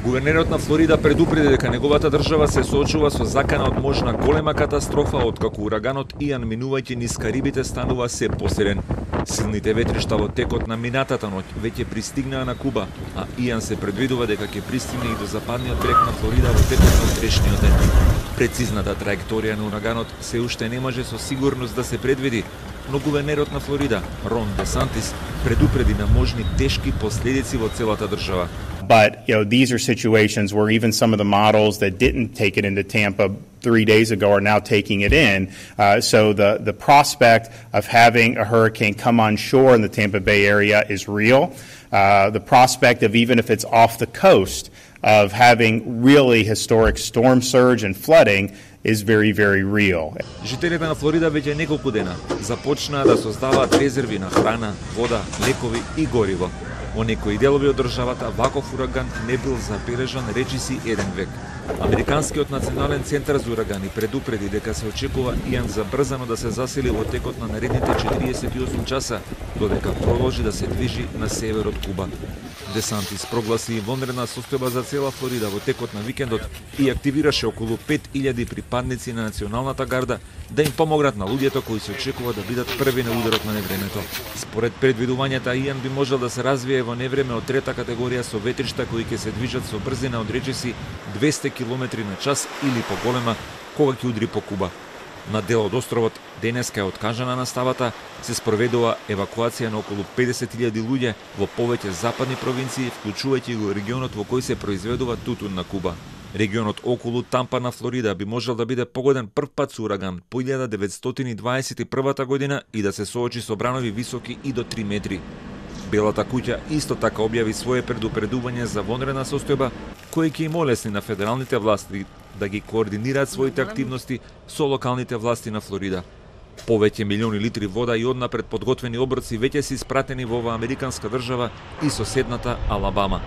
Гувернерот на Флорида предупреди дека неговата држава се соочува со закана од можна голема катастрофа откако ураганот Иан минувајќи низ Карибите станува се посилен. Силните ветришта во текот на минатата ноќ веќе пристигнаа на Куба, а Иан се предвидува дека ќе пристигне и до западниот брег на Флорида во текот на утрешниот ден. Прецизната траекторија на ураганот се уште не може со сигурност да се предвиди, но гувернерот на Флорида, Рон Десантис, предупреди на можни тешки последици во целата држава. But these are situations where even some of the models that didn't take it into Tampa 3 days ago are now taking it in. So the prospect of having a hurricane come on shore in the Tampa Bay area is real. The prospect of, even if it's off the coast, of having really historic storm surge and flooding is very, very real. Жителите на Флорида веќе неколку дена започнаа да создаваат резерви на храна, вода, лекови и гориво. Во некои делови од државата ваков ураган не бил забележан речиси еден век. Американскиот национален центар за урагани предупреди дека се очекува Иан забрзано да се засили во текот на наредните 48 часа, додека продолжи да се движи на север од Куба. Десантис прогласи вонредна состојба за цела Флорида во текот на викендот и активираше околу 5000 припадници на националната гарда да им помогнат на луѓето кои се очекува да бидат први на ударот на невремето. Според предвидувањата, Иан би можел да се развие во невреме од трета категорија со ветришта кои ќе се движат со брзина од речиси 200 км на час или поголема кога ќе удри по Куба. На дел од островот денеска е откажана наставата, се спроведува евакуација на околу 50.000 луѓе во повеќе западни провинции, вклучувајќи го регионот во кој се произведува тутун на Куба. Регионот околу Тампа на Флорида би можел да биде погоден прв пат со ураган по 1921 година и да се соочи со бранови високи и до 3 метри. Белата куќа исто така објави свое предупредување за вонредна состојба, кој ќе им олесни на федералните власти да ги координираат своите активности со локалните власти на Флорида. Повеќе милиони литри вода и однапред подготвени оброци веќе се испратени во оваа американска држава и соседната Алабама.